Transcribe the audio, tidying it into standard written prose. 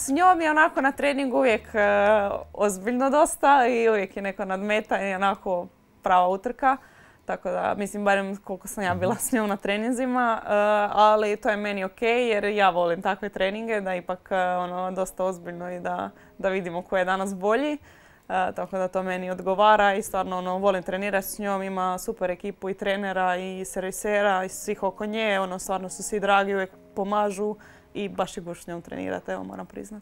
s njom je onako na treningu uvijek ozbiljno dosta i uvijek je neko nadmetanje, onako prava utrka. Tako da, mislim, barem koliko sam ja bila s njom na treninzima, ali to je meni ok jer ja volim takve treninge, da ipak dosta ozbiljno i da vidimo ko je danas bolji. Tako da to meni odgovara i stvarno volim trenirati s njom, ima super ekipu i trenera i servisera i svih oko nje, stvarno su svi dragi, uvijek pomažu i baš je gušt s njom trenirati, evo moram priznati.